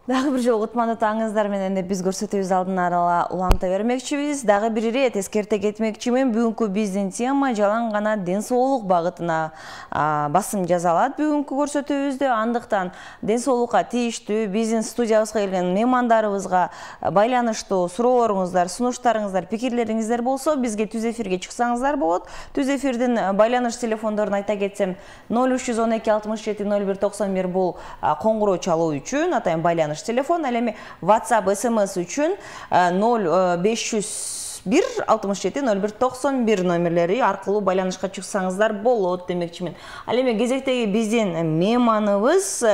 Дагы бир жолу кутмандуу таңыңыздар менен деп биз көрсөтүүбүз алдын ала уланта бермекчибиз. Дагы бир ирет эскерте кетмекчимин. Бүгүнкү биздин тема жалаң гана ден соолук багытына басым жасалат бүгүнкү көрсөтүүбүздө. Андыктан ден соолукка тийиштүү биздин студиябызга келген меймандарыбызга байланыштуу суроолоруңуздар, сунуштарыңыздар, пикирлериңиздер болсо, бизге түз эфирге чыксаңыздар болот. Түз эфирдин байланыш телефондорун айта кетсем, 0312 67 01 91 бул коңгуроо чалуу үчүн, атайын байланыш телефон, ал эми WhatsApp, SMS үчүн 0501 67 01 91 номерлери аркылуу байланышка чыксаңыздар болот демекчимин. Ал эми кезектеги биздин мейманыбыз,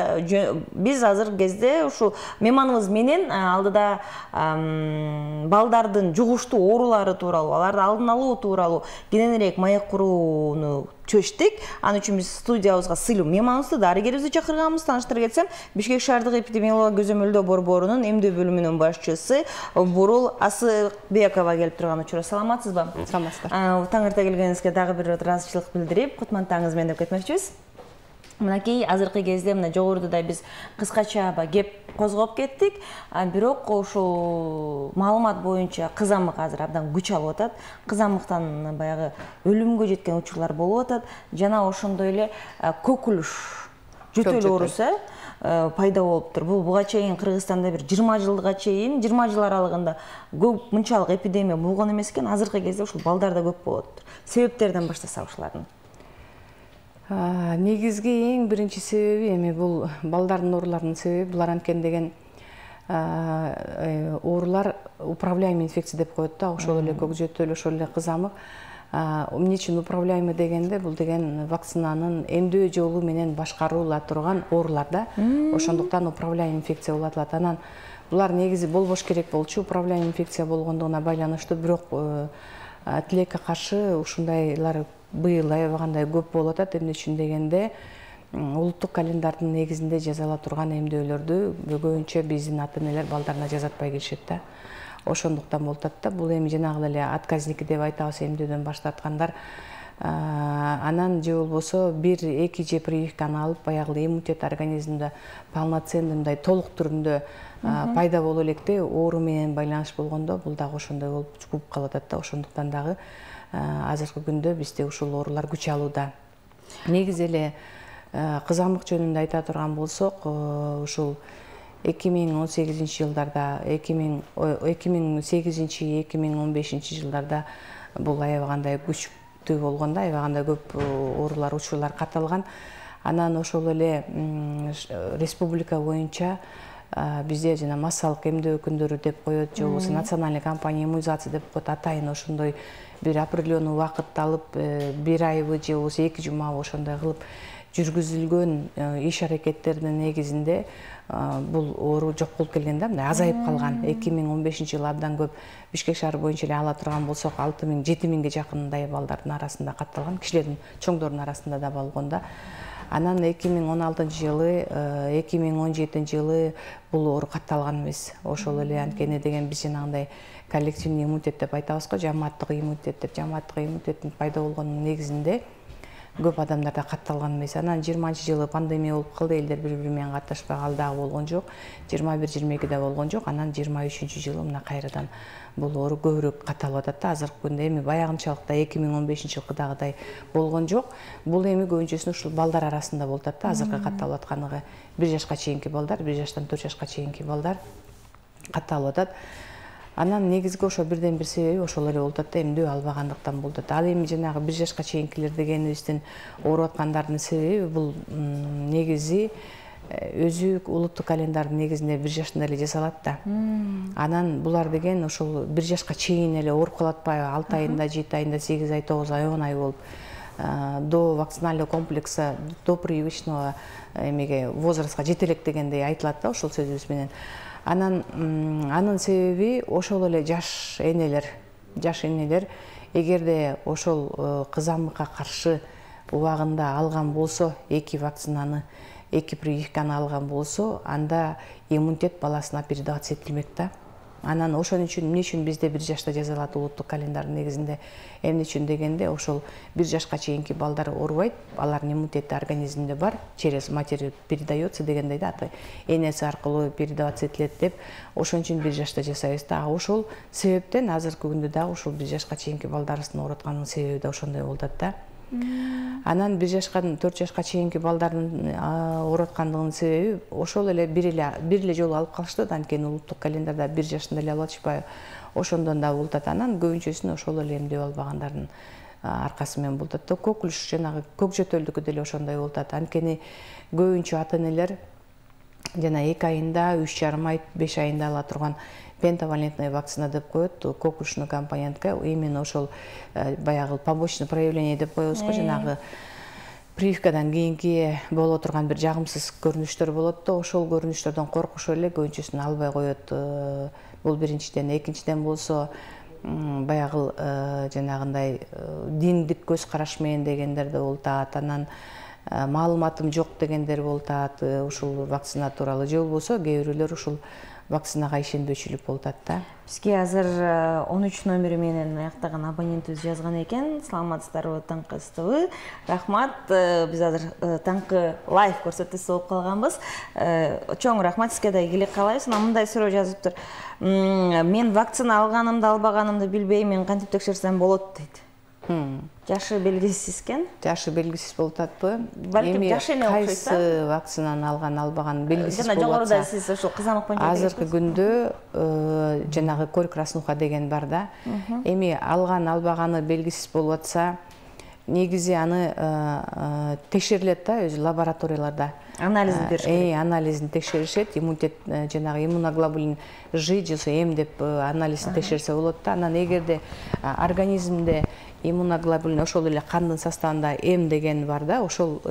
биз азыр кезде ушу мейманыбыз менен алдыда балдардын жугуштуу оорулары тууралуу, аларды алдын алуу тууралуу кененирээк маек курууну чечтик. Ал үчүн биз студиябызга сыйлуу мейманыбызды, дарыгерибизди чакырганбыз. Тааныштыра кетсем, Бишкек шаардык эпидемиология көзөмөлдөө борборунун эмдөө бөлүмүнүн башчысы Бурул Асыкбекова келип турган учур. Саламатсызбы? Саламатсыздар. Таң эрте келгениңизге дагы бир ыраазычылык билдирип, кутмандуу менен деп кетмекчибиз. Мынакей азыркы кезде мына жогоруда биз кыскача кеп козгоп кеттик, бирок ушул маалымат боюнча кызамык азыр абдан күч алып атат. Кызамыктан баягы өлүмгө жеткен учурлар болуп атат. Жана ошондой эле көкүлүш, жөтөл оорусу пайда болуптур. Бул буга чейин Кыргызстанда бир 20 жылга чейин, 20 жыл аралыгында көп мынчалык эпидемия болгон эмес экен. Азыркы кезде ушул балдарда көп болот. Себептерден баштасак ушулардын. Негизги эң биринчи себеби эми бул балдардын ооруларынын себеби булар анткени деген оорулар управляемый инфекция деп коет да, ошол эле көк жөтөл, ошол эле кызамык. Эмне үчүн управляемый дегенде, бул деген вакцинанын эмдөө жолу менен башкарыла турган оорулар да. Ошондуктан управляемый инфекция болуп атат. Анан булар негизи болбош керек болчу, управляемый инфекция болгондугуна байланыштуу, бирок тилекке каршы ушундайлар быйыл аябагандай көп болуп атат. Эмне үчүн дегенде, улуттук календардын негизинде жазыла турган эмдөөлөрдү көбүнчө биздин ата-энелер балдарына жазатпай келишет да. Ошондуктан болуп атат да. Бул эми жанагы эле отказники деп айтабыз, эмдөөдөн баш тарткандар. Анан же болбосо 1-2 же прививканы алып, баягы иммунитет организмде полноценный мындай толук түрүндө пайда болуп электе оору менен байланыш болгондо, бул дагы ошондой болуп чугуп калып атат да. Ошондуктан дагы азыркы күндө бизде ушул оорулар күч алууда. Негизи эле кызамык жөнүндө айта турган болсок, ушул 2018 жылдарда, 2008-2015 жылдарда бул аябагандай күчтүү болгондо, аябагандай көп оорулар, учурлар катталган. Анан ошол эле республика боюнча бизде жана массалык эмдөө күндөрү деп коет, же болбосо национальный кампания иммунизация деп коет, атайын ошондой бир определенный убакыт алып, 1 айбы же болбосо 2 жумабы ошондой кылып жүргүзүлгөн иш аракеттердин негизинде бул оору жок болуп келген да, мындай азайып калган. 2015 жылы абдан көп Бишкек шаары боюнча эле ала турган болсок, 6000-7000ге жакындай балдардын арасында катталган, кишилердин, чоңдордун арасында да болгон да. Анан 2016 жылы, 2017 жылы бул оору катталган эмес. Ошол эле анткени деген биз жанагындай коллективный иммунитет деп айтабыз го, жамааттык иммунитет деп, жамааттык иммунитеттин пайда болгонунун негизинде көп адамдарда катталган эмес. Анан 20-жылы пандемия болуп калды, элдер бири-бири менен катташпай, ал дагы болгон жок. 21-22-де болгон жок. Анан 23-жылы мына кайрадан бул оору көбүрөөк катталып атат да. Азыркы күндө эми баягынчалыкта 2015-жылкыдагыдай болгон жок. Бул эми көбүнчөсүн ушул балдар арасында болуп атат да. Азыркы катталып атканы 1 жашка чейинки балдар, 1 жаштан 4 жашка чейинки балдар катталып атат. Анан негизги ошо бирден бир себеби ошол эле болуп атат да, эмдөө албагандыктан болуп атат. Ал эми жанагы 1 жашка чейинкилер дегенибиздин ооруп аткандардын себеби бул негизи өзү улуттук календардын негизинде 1 жашында эле жасалат да. Анан булар деген ошол 1 жашка чейин эле ооруп калып атпайбы, 6 айында, 7 айында, 8 ай, 9 ай, 10 ай болуп до вакциналдык комплекса, до прививочного эмеге возрастка жете элек дегендей айтылат да, ошол сөзүбүз менен. Анын себеби ошол эле жаш энелер, эгерде ошол кызамыкка каршы убагында алган болсо, 2 вакцинаны, 2 прививканы алган болсо, анда иммунитет баласына передаваться этилмек да. Анан ошон үчүн эмне үчүн бизде 1 жашта жазалат улуттук календардын негизинде? Эмне үчүн дегенде, ошол 1 жашка чейинки балдар оорубайт, алардын иммунитети организминде бар, через матерь передается дегендей да, энеси аркылуу передаваться этилет деп, ошон үчүн 1 жашта жасайбыз да. Ошол себептен азыркы күндө дагы ошол 1 жашка чейинки балдарыбыздын оорутканынын себеби да ошондой болуп атат да. Анан 1 жашкан 4 жашка чейинки балдардын ооруткандыгынын себеби ошол эле бир эле жолу алып калышты да, анткени улуттук календарда 1 жашында эле алып атышпайбы, ошондон да болуп атат. Анан көбүнчөсүн ошол эле эмдеп албагандардын аркасы менен болуп атат да. Коклюш жанагы көк жөтөлдүкү деле ошондой болуп атат. Анткени көбүнчө ата-энелер жана 2 айында, 3,5 ай, 5 айында ала турган пентавалентная вакцина деп коет, коклюшный компонентке, именно ошол баягы побочный проявление деп коебуз го, жанагы прививкадан кийинки боло турган бир жагымсыз көрүнүштөр болот да, ошол көрүнүштөрдөн коркушуп эле көбүнчөсүн албай коет. Бул биринчиден. Экинчиден болсо баягы жанагындай диндик көз караш менен дегендер да болуп атат. Анан маалыматым жок дегендер болуп атат ушул вакцина тууралуу. Же болбосо кээ бирөөлөр ушул вакцинага ишенбөөчүлүк болуп атат да. Бизге азыр 13 номери менен аяктаган абонентибиз жазган экен. Саламатсыздарбы Таңкы СТВ? Рахмат. Биз азыр Таңкы лайв көрсөтүүсү болуп калганбыз. Чоң рахмат, сизге да ийгилик каалайбыз. Мындай суроо жазыптыр. Мен вакцина алганымды, албаганымды билбейм, мен кантип текшерсем болот дейт. Жашы белгисиз экен. Жашы белгисиз болуп атпы? Балким жашы эле окшойт да. Кайсы вакцинаны алган, албаган белгисиз болуп атса. Жогоруда сиз ошол кызамык боюнча азыркы күндө жанагы корь краснуха деген бар да. Эми алган, албаганы белгисиз болуп атса, негизи аны текшерилет да, өзү лабораторияларда. Анализин бериш керек. Анализин текшеришет, иммунитет жанагы иммуноглобулин Ж же М деп анализин текшерсе болот да. Анан эгерде организмде иммуноглобулин ошол эле кандын составында М деген бар да, ошол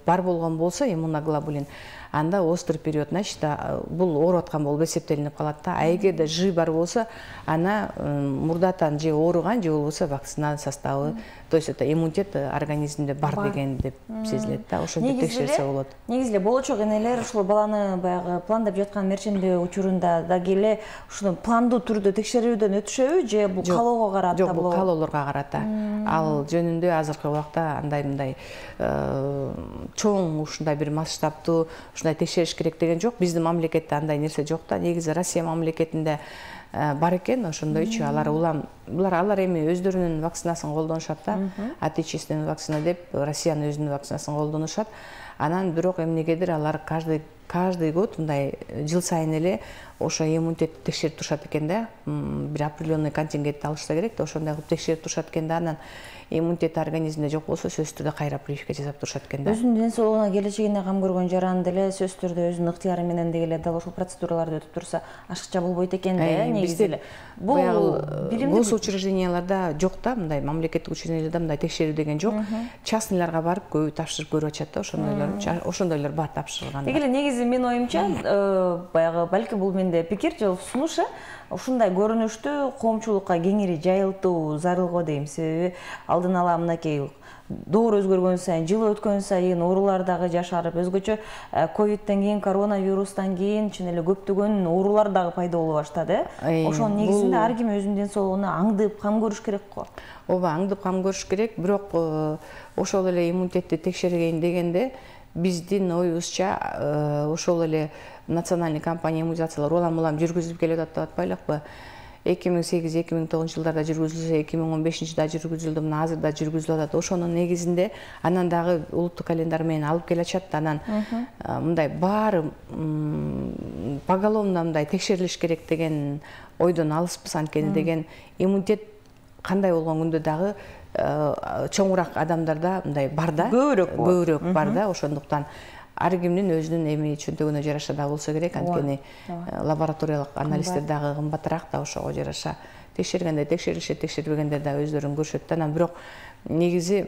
бар болгон болсо иммуноглобулин, анда острый период, значит, бул ооруп аткан болуп эсептелинип калат да. А эгерде Ж бар болсо, ана мурдатан же ооруган, же болбосо вакцинанын составы, то есть это иммунитет организмде бар деген деп сезилет да. Ошентип текшерсе болот. Негизи эле болочок энелер ушул баланы баягы пландап жаткан мерчемдөө учурунда дагы эле ушуну пландуу түрдө текшерүүдөн өтүшөбү, же бул каалоого карата болобу? Жок, бул каалоолорго карата. Ал жөнүндө азыркы убакта андай чоң ушундай бир масштабтуу ушундай текшериш керек деген жок. Биздин мамлекетте андай нерсе жок да. Негизи Россия мамлекетинде бар экен ошондойчу. Алар эми өздөрүнүн вакцинасын колдонушат да. Отечественный вакцина деп Россиянын өзүнүн вакцинасын колдонушат. Анан бирок эмнегедир алар каждый год мындай жыл сайын эле ошо иммунитетти текшерип турушат экен да. Бир определенный контингентти алышса керек да, ошондой кылып текшерип турушат экен да. Анан иммунитет организмде жок болсо сөзсүз түрдө кайра прививка жасап турушат экен да. Өзүнүн ден соолугуна, келечегине кам көргөн жаран деле сөзсүз түрдө өзүнүн ыктыяры менен деле дал ошол процедураларды өтүп турса ашыкча болбойт экен да, негизи эле. Бул госучрежденияларда жок да, мындай мамлекеттик учрежденияларда мындай текшерүү деген жок. Частныйларга барып көбү тапшырып көрүп атышат да, ошондойлор бар тапшырылган. Деги эле негизи менин оюмча, баягы балки бул менде пикир же сунуш, ушундай көрүнүштү коомчулукка кеңири жайылтуу зарыл го дейм. Себеби алдын ала мынакей доор өзгөргөн сайын, жыл өткөн сайын оорулар дагы жашарып, өзгөчө ковидтен кийин, коронавирустан кийин чын эле көптөгөн оорулар дагы пайда боло баштады. Ошонун негизинде ар ким өзүнүн ден соолугуна аңдып кам көрүш керек го. Ооба, аңдып кам көрүш керек, бирок ошол эле иммунитетти текшергейин дегенде биздин оюбузча ошол эле национальный компания иммунизациялар улам жүргүзүлүп келе атат деп атпайлыкпы? 2008-2009 жылдарда жүргүзүлсө, 2015-да жүргүзүлдү, мына азырда жүргүзүлүп атат. Ошонун негизинде анан дагы улуттук календар менен алып келе атышат. Анан мындай баары поголовно мындай текшерилиш керек деген ойдон алыспыз. Анткени деген иммунитет кандай болгон күндө дагы чоңураак адамдарда мындай бар да, көбүрөөк бар да. Ошондуктан ар кимдин өзүнүн эми чөнтөгүнө жараша да болсо керек. Анткени лабораториялык анализдер дагы кымбатыраак да, ошого жараша текшергенде текшерилишет, текшербегенде да өздөрүн көрүшөт да. Анан бирок негизи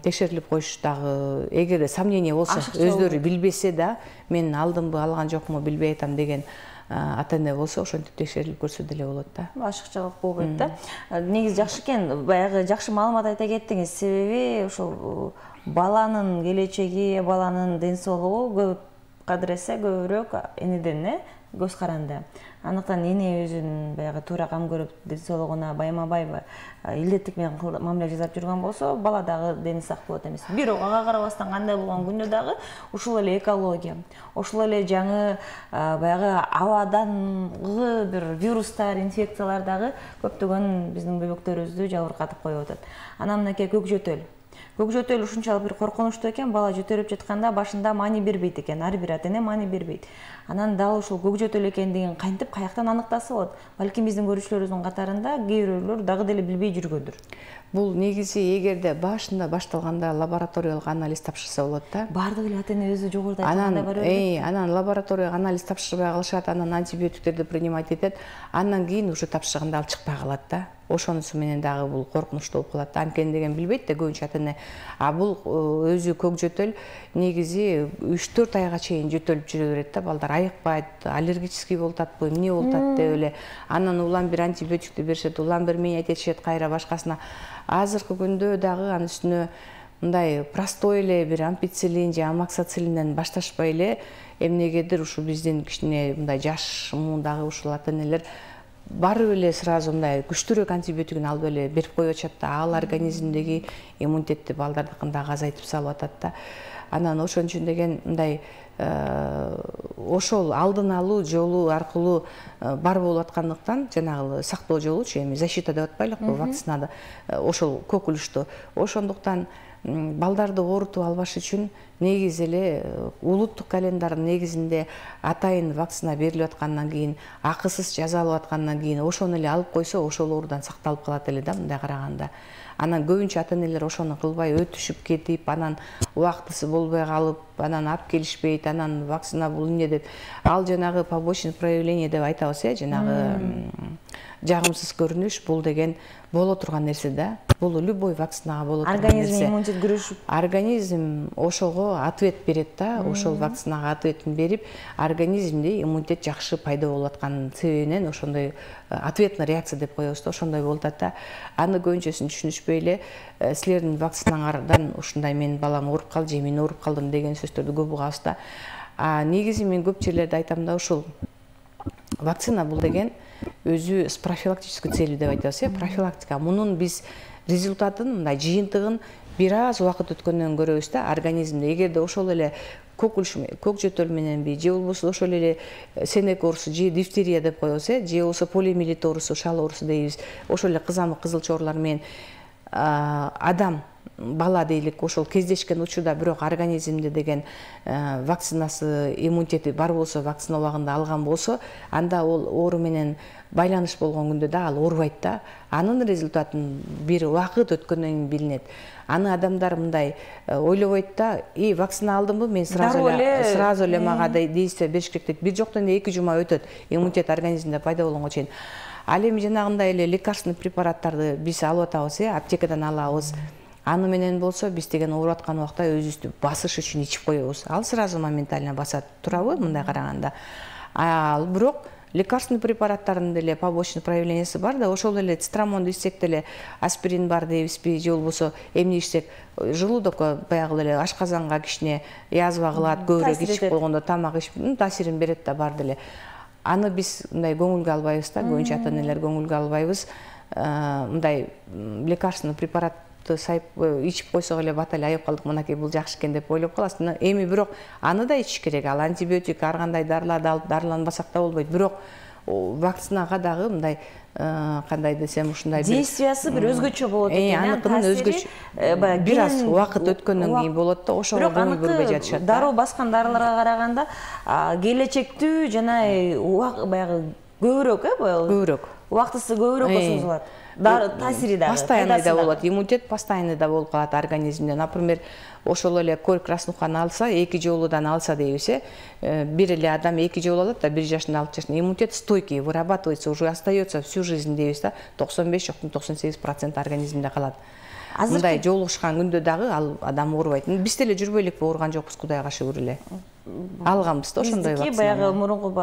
текшерилип коюш дагы, эгерде сомнение болсо, өздөрү билбесе да, мен алдымбы, алган жокму билбей атам деген ата-эне болсо, ошентип текшерилип көрсө деле болот да. Ашыкчалык болбойт да. Негизи жакшы экен, баягы жакшы маалымат айта кеттиңиз. Себеби ошол баланын келечеги, баланын ден соолугу көп кадыр эсе көбүрөөк энеден, көз каранды. Андыктан эне өзүнүн баягы туура кам көрүп ден соолугуна байма-бай илдеттик менен мамиле жасап жүргөн болсо, бала дагы дени сак болот эмес. Бирок ага карабастан кандай болгон күндө дагы ушул эле экология, ошол эле жаңы баягы абадангы бир вирустар, инфекциялар дагы көптөгөн биздин бөбөктөрүбүздү жабыркатып коюп атат. Анан мынакей көк жөтөл. Көк жөтөл ушунчалык бир коркунучтуу экен, бала жөтөлүп жатканда башында маани бербейт экен, ар бир ата эне маани бербейт. Анан дал ушул көк жөтөл экендигин кантип каяктан аныктаса болот? Балким биздин көрүүчүлөрүбүздүн катарында кээ бирөөлөр дагы деле билбей жүргөндүр. Бул негизи эгерде башында башталганда лабораториялык анализ тапшырса болот да. Бардык эле ата эне өзү жогоруда айткандай бар эле. Анан лабораторияга анализ тапшырбай калышат, анан антибиотиктерди принимать этет. Андан кийин уже тапшырганда ал чыкпай калат да. Ошонусу менен дагы бул коркунучтуу болуп калат. Анткени деген билбейт да көбүнчө ата эне. А бул өзү көк жөтөл негизи 3-4 айга чейин жөтөлүп жүрө берет да. Балдар айыкпайт, аллергический болуп атпы, эмне болуп атат деп эле. Анан улам бир антибиотикти беришет, улам бир менять этишет кайра башкасына. Азыркы күндө дагы анын үстүнө мындай простой эле бир ампицилин же амоксицилинден башташпай эле эмнегедир ушул биздин кичине мындай жаш муундагы ушул ата энелер барып эле сразу мындай күчтүүрөөк антибиотигин алып эле берип коюп атышат да. Ал организмдеги иммунитетти балдардыкын дагы азайтып салып атат да. Анан ошон үчүн деген мындай ошол алдын алуу жолу аркылуу бар болуп аткандыктан, жанагы сактоо жолучу, эми защита деп атпайлыкпы, вакцинада ошол көкүлүштү. Ошондуктан балдарды оорутуп албаш үчүн негизи эле улуттук календардын негизинде атайын вакцина берилип аткандан кийин, акысыз жазалып аткандан кийин ошону эле алып койсо, ошол оорудан сакталып калат эле да, мындай караганда. Анан көбүнчө ата энелер ошону кылбай өтүшүп кетип, анан убактысы болбой калып, анан алып келишпейт, анан вакцина бул эмне деп, ал жанагы побочный проявление деп айтабыз, жанагы жагымсыз көрүнүш, бул деген боло турган нерсе да. Бул любой вакцинага боло турган нерсе. Организм иммунитет күрөшүп, организм ошого ответ берет да, ошол вакцинага ответин берип, организмде иммунитет жакшы пайда болуп атканын себебинен ошондой ответный реакция деп коебуз да, ошондой болуп атат да. Аны көбүнчөсүн түшүнүшпөй эле силердин вакцинаңардан ушундай менин балам ооруп калды же мен ооруп калдым деген сөздөрдү көп угабыз да. Негизи мен көп жерлерде айтам да, ушул вакцина бул деген өзү с профилактической целью деп айтабыз, профилактика. Мунун биз результатын, мындай жыйынтыгын бир аз убакыт өткөндөн көрөбүз да, организмде. Эгерде ошол эле көк жөтөл мененби, же болбосо ошол эле сенек оорусу, же дифтерия деп коебуз, же болбосо полиомиелит оорусу, шал оорусу дейбиз, ошол эле кызамык, кызылча оорулар менен адам, бала дейлик, ошол кездешкен учурда бирок организмде деген вакцинасы, иммунитети бар болсо, вакцина убагында алган болсо, анда ал оору менен байланыш болгон күндө да ал оорубайт да. Анын результатын бир убакыт өткөндөн кийин билинет. Аны адамдар мындай ойлобойт да, вакцина алдымбы, мен сразу эле мага действие бериш керек дейт. Бир жоктон эле 2 жума өтөт, иммунитет организмде пайда болгонго чейин. Ал эми жанагындай эле лекарственный препараттарды биз алып атабыз, аптекадан алабыз. Аны менен болсо биз деген ооруп аткан убакта өзүбүздү басыш үчүн ичип коебуз. Ал сразу моментально басат, турабы мындай караганда. Ал бирок лекарственный препараттардын деле побочный проявлениясы бар да, ошол эле цитрамонду ичсек деле аспирин бар дейбизби, же болбосо эмне ичсек, желудокко баягы эле ашказанга кичине язва кылат, көбүрөөк ичип койгондо тамак ичип таасирин берет да, бар деле. Аны биз мындай көңүлгө албайбыз да, көбүнчө ата энелер көңүлгө албайбыз. Мындай лекарственный препарат ичип койсок эле бат эле айып калдык, мынакей бул жакшы экен деп ойлоп каласың. Эми бирок аны да ичиш керек. Ал антибиотик, ар кандай дарыларды алып дарыланбасак да болбойт. Бирок вакцинага дагы мындай кандай десем, ушундай действиясы бир өзгөчө болот экен. Аныкынын өзгөчө. Бир аз убакыт өткөндөн кийин болот да, ошого көңүл бөлбөй жатышат. Дароо баскан дарыларга караганда келечектүү жана баягы көбүрөөк, көбүрөөк. Убактысы көбүрөөккө созулат. Таасири дагы постоянный да болот, иммунитет постоянный да болуп калат организмде. Например, ошол эле корь краснуханы алса, 2 жолудан алса дейбиз, бир эле адам 2 жолу алат да, 1 жашында, 6 жашында, иммунитет стойкий, вырабатывается, уже остается всю жизнь дейбиз да, 95 жоктун 98% организмде калат. Мындай жолугушкан күндө дагы ал адам оорубайт. Биз деле жүрбөйлүкпү, ооруган жокпуз, Кудайга шүгүр эле. алганбыз да ошондой вакцина. Баягы мурунку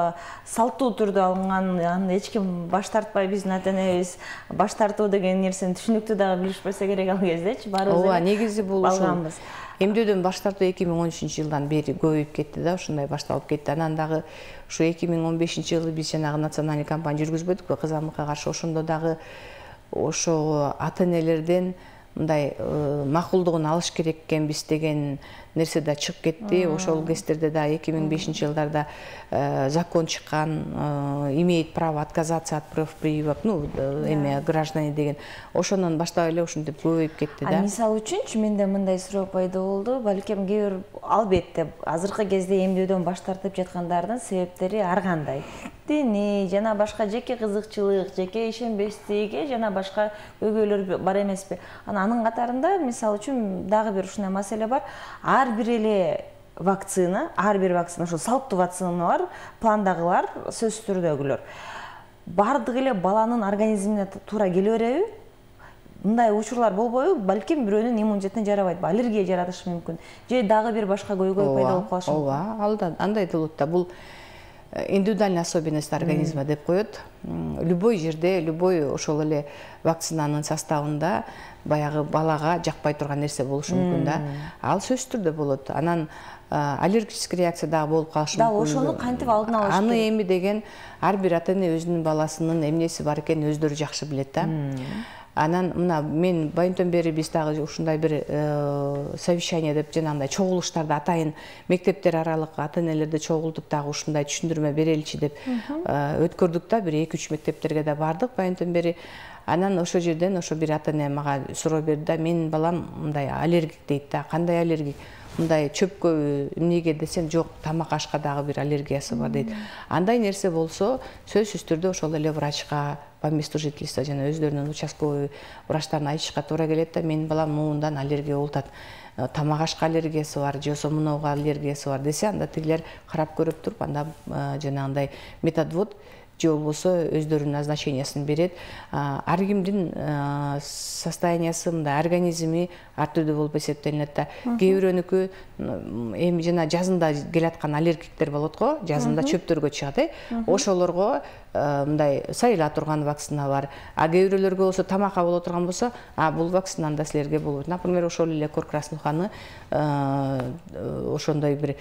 салттуу түрдө алынган, аны эч ким баш тартпай, биздин ата-энебиз баш тартуу деген нерсени түшүнүктүү дагы билишпесе керек ал кездечи. Баарыбыз ооба, негизи бул алганбыз. Эмдөөдөн баш тартуу 2013-жылдан бери көбөйүп кетти да, ушундай башталып кетти. Анан дагы ушу 2015-жылы биз жанагы национальный кампания жүргүзбөдүкпү кызамыкка каршы. Ошондо дагы ошо ата-энелерден мындай макулдугун алыш керек экенбиз деген нерсе да чыгып кетти. Ошол кездерде да 2005-жылдарда закон чыккан, имеет право отказаться от прав прививок, эме граждане деген. Ошондон баштап эле ушинтип көбөйүп кетти да. Мисалы үчүнчү менде мындай суроо пайда болду. Балким кээ бир албетте азыркы кезде эмдөөдөн баш тартып жаткандардын себептери ар кандай. Дини жана башка жеке кызыкчылык, жеке ишенбестиги жана башка көйгөйлөр бар эмеспи? Анын катарында мисалы үчүн дагы бир ушундай маселе бар. Ар бир вакцина, ошо салттуу вакциналар, пландагылар, сөзсүз түрдөгүлөр. Бардыгы эле баланын организмине туура келе береби? Мындай учурлар болбойбу? Балким бирөөнүн иммунитетине жарабайт, аллергия жаратышы мүмкүн. Же дагы бир башка көйгөй пайда болуп калышы мүмкүн. Ооба, андай болот да. Бул индивидуальный особенность организма деп коет. Любой жерде, любой ошол эле вакцинанын составында баягы балага жакпай турган нерсе болушу мүмкүн да. Ал сөзсүз түрдө болот. Анан аллергический реакция дагы болуп калышы мүмкүн. Да, ошону кантип алдын алыш керек? Аны эми деген ар бир ата-эне өзүнүн баласынын эмнеси бар экенин өздөрү жакшы билет да. Анан мына мен байынтон бери биз дагы ушундай бир совещание деп жанагындай чогулуштарды атайын мектептер аралык ата-энелерди чогултуп дагы ушундай түшүндүрмө береличи деп өткөрдүк да. Бир 2-3 мектептерге да бардык байынтон бери. Анан ошол жерден ошо бир ата-эне мага суроо берди да, менин балам мындай аллергик дейт да. Кандай аллергик? Мындай чөпкө эмнеге десем, жок, тамак ашка дагы бир аллергиясы бар дейт. Андай нерсе болсо, сөзсүз түрдө ошол эле врачка, по месту жительства жана өздөрүнүн участковый врачтарына айтышка туура келет да, менин балам муундан аллергия болуп атат. Тамак ашка аллергиясы бар, же болбосо мынауга аллергиясы бар десе, анда тигилер карап көрүп туруп, анда жанагындай методвод же болбосо өздөрүнүн назначениясын берет. Ар кимдин состояниясы, мындай организми ар түрдүү болуп эсептелинет да. Кээ бирөөнүкү эми жана жазында келаткан аллергиктер болот го, жазында чөптөргө чыгат, ошолорго мындай сайыла турган вакцина бар. А кээ бирөөлөргө болсо тамакка боло турган болсо, бул вакцинаны да силерге болот. Например, ошол эле кор краснуханы ошондой бир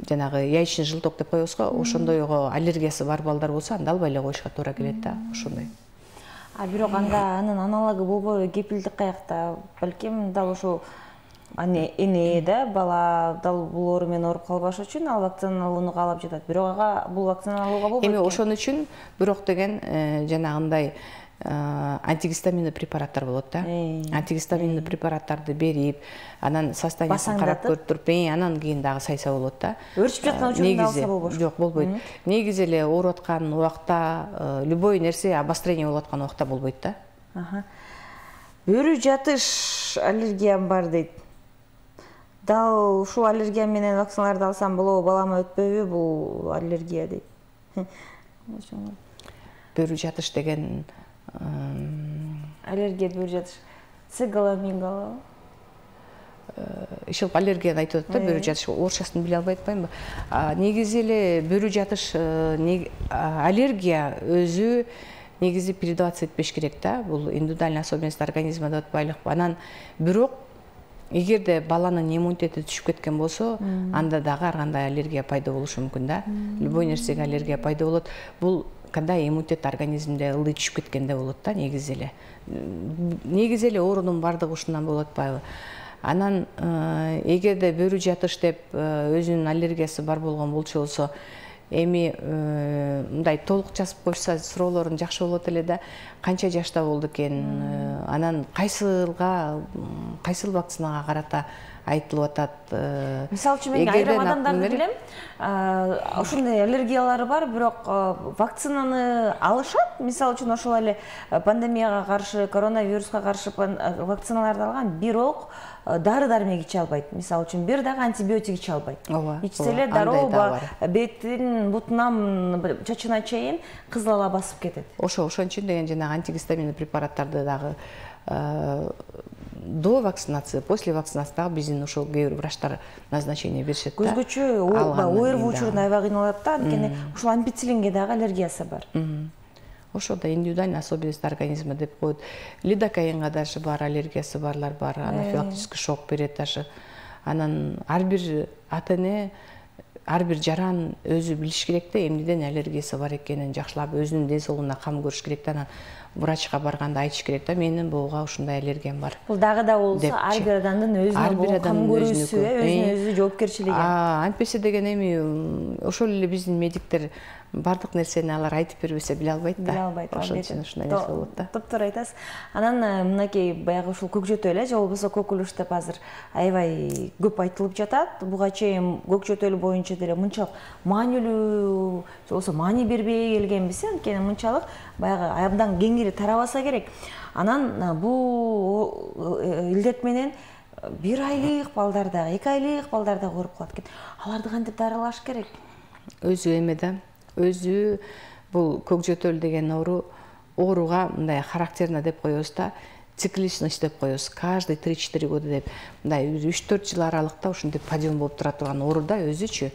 жанагы яичный желток деп коебуз го, ошондойго аллергиясы бар балдар болсо, анда албай эле коюшка туура келет да, ошондой. Бирок анда анын аналогу болбойбу, кепилдик каякта? Балким дал ушул эне да бала дал бул оору менен ооруп калбаш үчүн ал вакцина алууну каалап жатат. Бирок ага бул вакцина алууга болбойт. Эми ошон үчүн бирок деген жанагындай антигистаминный препараттар болот да. Антигистаминный препараттарды берип, анан состояниясын карап көрүп, анан кийин дагы сайса болот да. Өрчүп жаткан учурунда алса болбош. Жок, болбойт. Негизи эле ооруп аткан убакта, любой нерсе обострение болуп аткан убакта болбойт да. Бөрү жатыш аллергиям бар дейт. Дал ушул аллергия менен вакциналарды алсам болобу, балама өтпөйбү бул аллергия дейт. Бөрү жатыш деген аллергия бөрү жатыш. Цигала, мигала. Ишил аллергияны айтып атат да, бөрү жатыш. Орусчасын биле албай атпаймынбы? Негизи эле бөрү жатыш аллергия өзү негизи передаваться этпеш керек да. Бул индивидуальный особенность организма деп атпайлыкпы. Анан бирок эгерде баланын иммунитети түшүп кеткен болсо, анда дагы ар кандай аллергия пайда болушу мүмкүн да. Любой нерсеге аллергия пайда болот. Бул кандай иммунитет организмде ылдый түшүп кеткенде болот да, негизи эле. Негизи эле оорунун бардыгы ушундан болуп атпайбы? Анан эгерде бөрү жатыш деп өзүнүн аллергиясы бар болгон болсо, эми мындай толук жазып коюшса суроолорун жакшы болот эле да. Канча жашта болду экен, анан кайсыл вакцинага карата айтылып атат. Мисалы үчүн мен айрым адамдарды билем, ошондой аллергиялары бар, бирок вакцинаны алышат. Мисалы үчүн ошол эле пандемияга каршы, коронавируска каршы вакциналарды алган, бирок дары-дармек иче албайт. Мисалы үчүн бир дагы антибиотик иче албайт. Ичсе эле дароо бетин, бутунан, чачына чейин кызыл ала басып кетет. Ошон үчүн деген жанагы антигистаминный препараттарды дагы до вакцинации, после вакцинации дагы биздин ошол кээ бир врачтар назначение беришет да. Көзгөчө ойрбоо учурунда аябай кыйналат да, анткени ушул ампицилинге дагы аллергиясы бар. Ошо да индивидуальный особенность организма деп коет. Лидокаинга даже бар, аллергиясы барлар бар, анафилактический шок берет даже. Анан ар бир ата-эне, ар бир жаран өзү билиш керек да, эмнеден аллергиясы бар экенин жакшылап өзүнүн ден соолугуна кам көрүш керек да. Анан врачка барганда айтыш керек да, менин буга ушундай аллергиям бар. Бул дагы да болсо ар бир адамдын өзүнө кам көрүүсү, өзүнө жоопкерчилиги. Антпесе деген эми ошол эле биздин медиктер бардык нерсени алар айтып бербесе биле албайт да. Биле албайт. Ошон үчүн ушундай нерсе болот да. Топтор айтасыз. Анан мынакей баягы ушул көкжөтөл же болбосо көкүлүш деп азыр аябай көп айтылып жатат. Буга чейин көкжөтөл боюнча деле мынчалык маанилүү, же болбосо маани бербей келгенбиз, анткени мынчалык баягы абдан кеңири тарабаса керек. Анан бул илдет менен 1 айлык балдар дагы, 2 айлык балдар дагы ооруп калат экен. Аларды кантип дарылаш керек? Өзү эме да. Өзү бул көкжөтөл деген ооруга мындай характерно деп коебуз да, цикличность деп коебуз. Каждый 3-4 года деп мындай 3-4 жыл аралыкта ушинтип подъем болуп тура турган оору да өзүчү.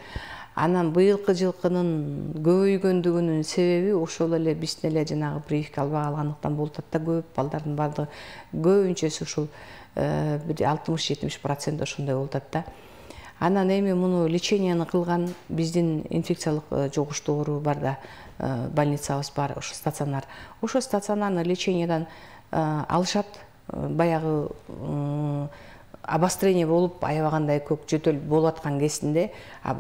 Анан быйылкы жылкынын көбөйгөндүгүнүн себеби ошол эле биздин эле жанагы прививка албай калгандыктан болуп атат да. Көп балдардын бардыгы көбүнчөсү ушул 60-70% ошондой болуп атат да. Анан эми муну леченияны кылган биздин инфекциялык жугуштуу оору бар да, больницабыз бар, ошо стационар. Ошо стационарный лечениядан алышат, баягы обострение болуп аябагандай көкжөтөл болуп аткан кезинде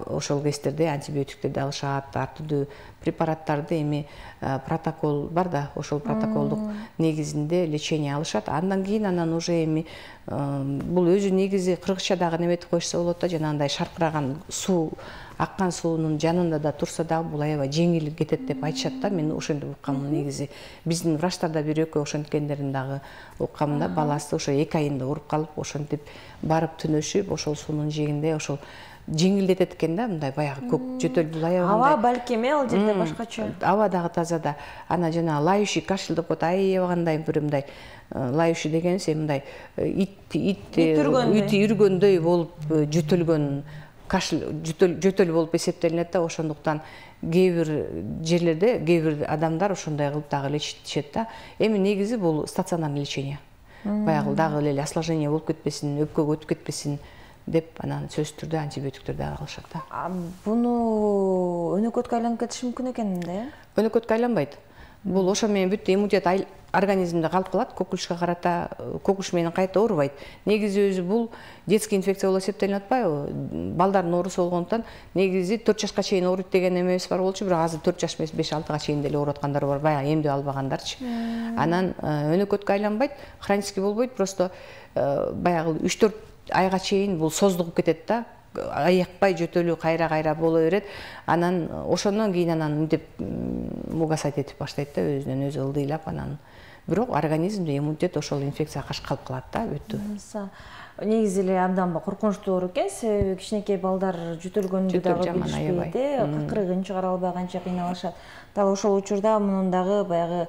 ошол кездерде антибиотиктерди алышат, ар түрдүү препараттарды эми протокол бар да, ошол протоколдук негизинде лечение алышат. Андан кийин анан уже эми бул өзү негизи кыргызча дагы неметип коюшса болот да, жанагындай шаркыраган суу, аккан суунун жанында да турса дагы бул аябай жеңил кетет деп айтышат да. Мен ошентип уккам негизи. Биздин врачтарда бир экөө ошенткендерин дагы уккам да. Баласы ошо 2 айында ооруп калып, ошентип барып түнөшүп, ошол суунун жээгинде ошол жеңилдетет экен да, мындай баягы көкжөтөл бул аябай. Аба балким ал жерде башкача. Аба дагы таза да. Ана жана лающий кашель деп коет, аябагандай бир мындай лающий дегенибиз мындай ит үргөндөй болуп жөтөлгөн кашель, жөтөл болуп эсептелинет да. Ошондуктан кээ бир жерлерде кээ бир адамдар ошондой кылып дагы лечитишет да. Эми негизи бул стационарный лечение. Баягы дагы эле осложнение болуп кетпесин, өпкөгө өтүп кетпесин деп анан сөзсүз түрдө антибиотиктерди алышат да. Буну өнөкөткө айланып кетиши мүмкүн экен да? Өнөкөткө айланбайт. Бул ошо менен бүт иммунитет организмде калып калат, көкүлүшкө карата көкүлүш менен кайта оорубайт. Негизи өзү бул детский инфекция болуп эсептелип атпайбы? Балдардын оорусу болгондуктан негизи 4 жашка чейин ооруйт деген эмебиз бар болчу, бирок азыр 4 жаш эмес 5-6 чейин деле ооруп аткандар бар, баягы эмдөө албагандарчы. Анан өнөкөткө айланбайт, хронический болбойт, просто баягы 3-4 айга чейин бул создугуп кетет да. Аякпай жөтөлүү кайра боло берет. Анан ошондон кийин анан мынтип мугасать этип баштайт да, өзүнөн өзү ылдыйлап анан. Бирок организмде иммунитет ошол инфекцияга каршы калып калат да, бүттү. Негизи эле абдан коркунучтуу оору экен, себеби кичинекей балдар жөтөлгөндү дагы билишпейт, кыкырыгын чыгара албай канча кыйналышат. Дал ошол учурда мунун дагы баягы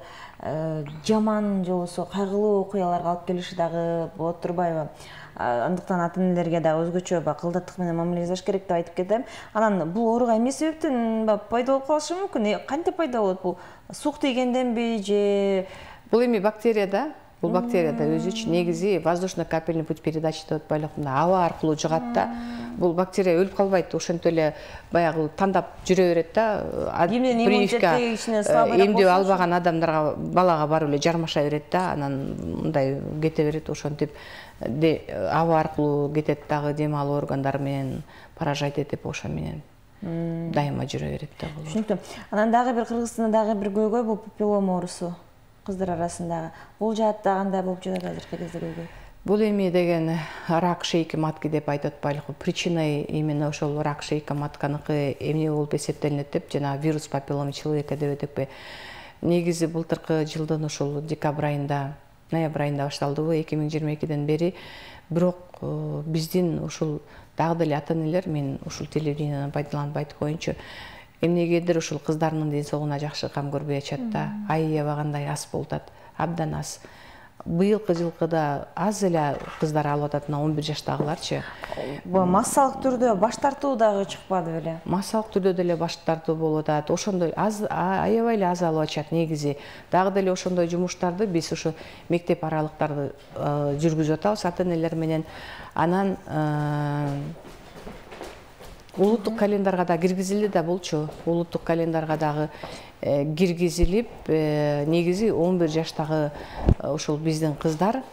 жаман же болбосо кайгылуу окуяларга алып келиши дагы болот турбайбы? Андыктан ата-энелерге дагы өзгөчө кылдаттык менен мамиле жасаш керек деп айтып кетем. Анан бул ооруга эмне себептен пайда болуп калышы мүмкүн? Кантип пайда болот бул? Сук тийгенденби же бул эми бактерия да? Бул бактерия да өзүчү негизи воздушно-капельный путь передачи деп атпайлык, аба аркылуу жугат да. Бул бактерия өлүп калбайт, ошентип эле баягы тандап жүрө берет да. Прививка эмдөө албаган адамдарга, балага барып эле жармаша берет да, анан мындай кете берет, ошентип аба аркылуу кетет дагы, дем алуу органдары менен поражать этип ошо менен дайыма жүрө берет да. Түшүнүктүү. Анан дагы бир Кыргызстанда дагы бир көйгөй бул папиллома оорусу. Кыздар арасындагы. Бул жаатта кандай болуп жатат азыркы кезде көйгөй? Бул эми деген рак шейки матки деп айтып атпайлыкпы. Причиной именно ошол рак шейка матканыкы эмне болуп эсептелинет деп, жана вирус папиллома человека деп этекпи. Негизи былтыркы жылдын ошол декабрь айында, ноябрь айында башталдыбы 2022ден бери. Бирок биздин ушул дагы деле ата-энелер, мен ушул телевидениеден пайдаланып айтып коеюнчу, эмнегедир ушул кыздарынын ден соолугуна жакшы кам көрбөй атышат да. Аябагандай аз болуп атат, абдан аз. быйылкы жылкыда аз эле кыздар алып атат, 11 жаштагыларчы. Массалык түрдө баш тартуу дагы чыкпады беле? Массалык түрдө деле баш тартуу болуп атат. Ошондой аябай эле аз алып атышат негизи. Дагы деле ошондой жумуштарды биз ошо мектеп аралыктарды жүргүзүп атабыз ата-энелер менен. Анан улуттук календарга да киргизилди да болчу. Улуттук календарга дагы киргизилип, негизи 11 жаштагы ошол биздин кыздар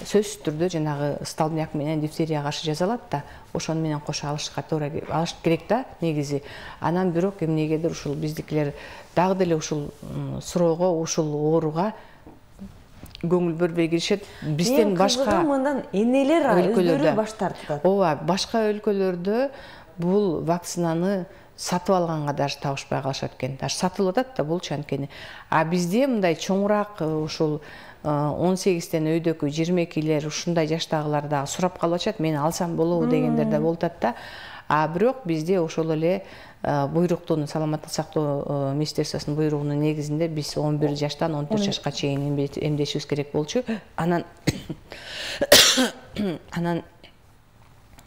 сөзсүз түрдө жанагы столбняк менен дифтерияга каршы жазалат да, ошону менен кошо алышка туура алыш керек да негизи. Анан бирок эмнегедир ушул биздикилер дагы деле ушул суроого, ушул ооруга көңүл бөлбөй киришет. Бизден башка мындан энелер өздөрү баш тартат. Ооба, башка өлкөлөрдө бул вакцинаны сатып алганга даже табышпай калышат экен. Даже сатылып атат да болчу анткени. А бизде мындай чоңураак ушул 18-тен өйдөкү 22-лер ушундай жаштагылар дагы сурап калып атышат. Мен алсам болобу дегендер да болуп атат да. А бирок бизде ошол эле буйруктун саламаттык сактоо министерствосунун буйругунун негизинде биз 11 жаштан 14 жашка чейин эмдешибиз керек болчу. Анан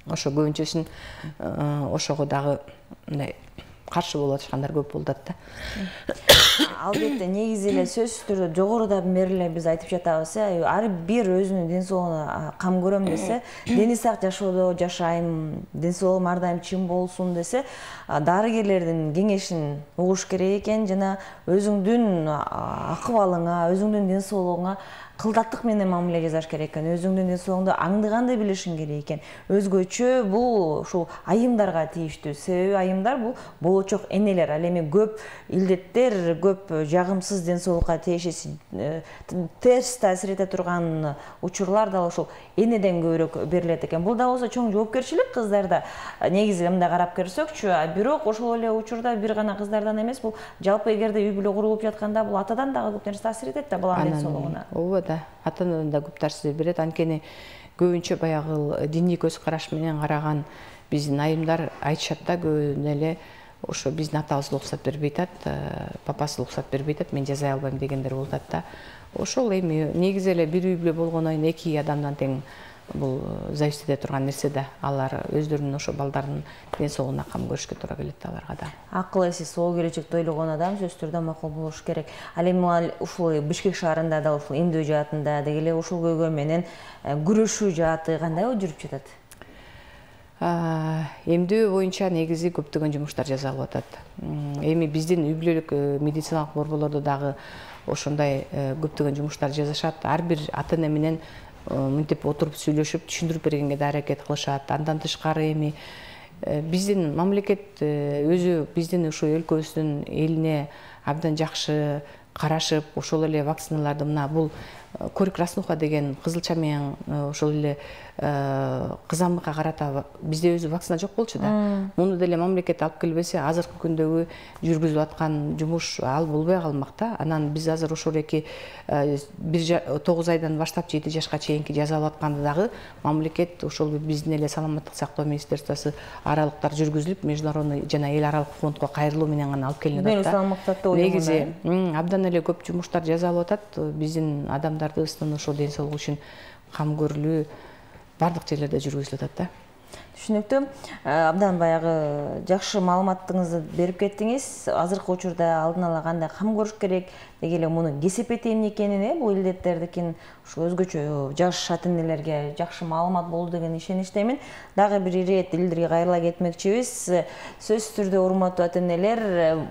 ошо көбүнчөсүн ошого дагы мындай каршы болуп атышкандар көп болуп атат да. Албетте негизи эле сөзсүз түрдө жогорудан бери эле биз айтып жатабыз, ар бир өзүнүн ден соолугуна кам көрөм десе, дени сак жашоодо жашайм, ден соолугум ар дайым чың болсун десе, дарыгерлердин кеңешин угуш керек экен жана өзүңдүн акыбалыңа, өзүңдүн ден соолугуңа кылдаттык менен мамиле жасаш керек экен. Өзүңдүн ден соолугуңду аңдыганды билишиң керек экен. Өзгөчө бул ушул айымдарга тийиштүү. Себеби айымдар бул болочок энелер. Ал эми көп илдеттер, көп жагымсыз ден соолукка тиешеси терс таасир эте турган учурлар да ошол энеден көбүрөөк берилет экен. Бул да болсо чоң жоопкерчилик кыздарда. Негизи мындай карап көрсөкчү, бирок ошол эле учурда бир гана кыздардан эмес, бул жалпы эгерде үй бүлө курулуп жатканда бул атадан дагы көп нерсе таасир этет да баланын ден соолугуна. Да, ата-анадан да көп таасир берет. Анткени көбүнчө баягы диний көз караш менен караган биздин айымдар айтышат да, көбүнө эле ошо биздин атабыз уруксат бербей атат, папасы уруксат бербей атат, мен жасай албайм дегендер болуп атат да. Ошол эми негизи эле бир үй бүлө болгондон кийин эки адамдан тең бул зависит эте турган нерсе да. Алар өздөрүнүн ошо балдарынын ден соолугуна кам көрүшкө туура келет да аларга да. Акыл эси сол келечекти ойлогон адам сөзсүз түрдө макул болуш керек. Ал эми ушул Бишкек шаарында да ушул эмдөө жаатында деги эле ушул көйгөй менен күрөшүү жааты кандай жүрүп жатат? Эмдөө боюнча негизи көптөгөн жумуштар жасалып атат. Эми биздин үй бүлөлүк медициналык борборлордо дагы ошондой көптөгөн жумуштар жасашат. Ар бир ата-эне менен мынтип отуруп сүйлөшүп түшүндүрүп бергенге да аракет кылышат. Андан тышкары эми биздин мамлекет өзү биздин ушу өлкөбүздүн элине абдан жакшы карашып, ошол эле вакциналарды мына бул корь краснуха деген кызылча менен ошол эле кызамыкка карата бизде өзү вакцина жок болчу да. Муну деле мамлекет алып келбесе, азыркы күндөгү жүргүзүп аткан жумуш ал болбой калмак да. Анан биз азыр ошол эки 9 айдан баштап 7 жашка чейинки жазалап атканды дагы мамлекет ошол биздин эле саламаттык сактоо министерствосу аралыктар жүргүзүлүп, международный жана эл аралык фондго кайрылуу менен гана алып келинип атат да. Негизи абдан эле көп жумуштар жасалып атат. Биздин адамдардын ошо ден соолугу үчүн кам көрүлүү бардык жерлерде жүргүзүлүп атат да. Түшүнүктүү. Абдан баягы жакшы маалыматыңызды берип кеттиңиз. Азыркы учурда алдын ала кандай кам көрүш керек, деги эле муну кесепети эмне экенин, бул илдеттердикин ушул өзгөчө жаш ата-энелерге жакшы маалымат болду деген ишеничтемин. Дагы бир ирет илдирге кайрыла кетмекчибиз. Сөзсүз түрдө урматтуу ата-энелер,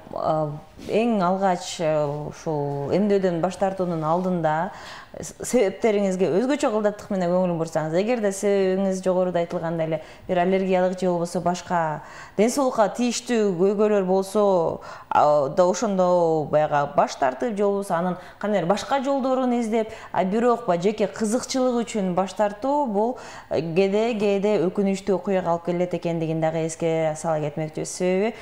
эң алгач ушул эмдөөдөн баш тартуунун алдында себептериңизге өзгөчө кылдаттык менен көңүл бурсаңыз, эгерде себебиңиз жогоруда айтылгандай эле бир аллергиялык же болбосо башка ден соолукка тийиштүү көйгөйлөр болсо да ошондо баягы баш тартып же болбосо анын кандайдыр башка жолдорун издеп, бирок жеке кызыкчылык үчүн баш тартуу бул кээде өкүнүчтүү окуяга алып келет экендигин дагы эске сала кетмекчибиз. Себеби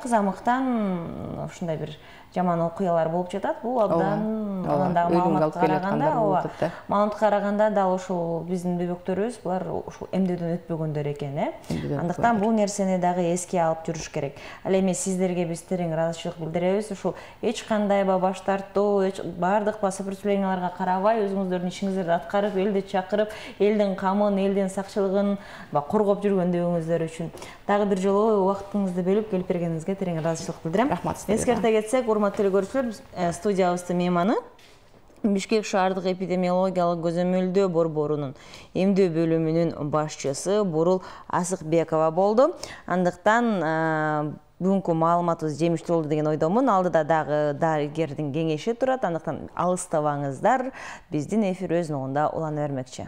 кызамыктан ушундай бир жаман окуялар болуп жатат. Бул абдан анан дагы маалыматка караганда дал ушул биздин бөбөктөрүбүз булар ушул эмдөөдөн өтпөгөндөр экен, Андыктан бул нерсени дагы эске алып жүрүш керек. Ал эми сиздерге биз терең ыраазычылык билдиребиз. Ушул эч кандай баш тартуу, бардык сопротивленияларга карабай өзүңүздөрдүн ишиңиздерди аткарып, элди чакырып, элдин камын, элдин сакчылыгын коргоп жүргөндүгүңүздөр үчүн дагы бир жолу убактыңызды бөлүп келип бергениңизге терең ыраазычылык билдирем. Рахмат. Эскерте кетсек, урматтуу көрүүчүлөр, студиябыздын мейманы Бишкек шаардык эпидемиологиялык көзөмөлдөө борборунун эмдөө бөлүмүнүн башчысы Бурул Асыкбекова болду. Андыктан бүгүнкү маалыматыбыз жемиштүү болду деген ойдомун. Алдыда дагы дарыгердин кеңеши турат. Андыктан алыстабаңыздар. Биздин эфир өз ногунда улана бермекчи.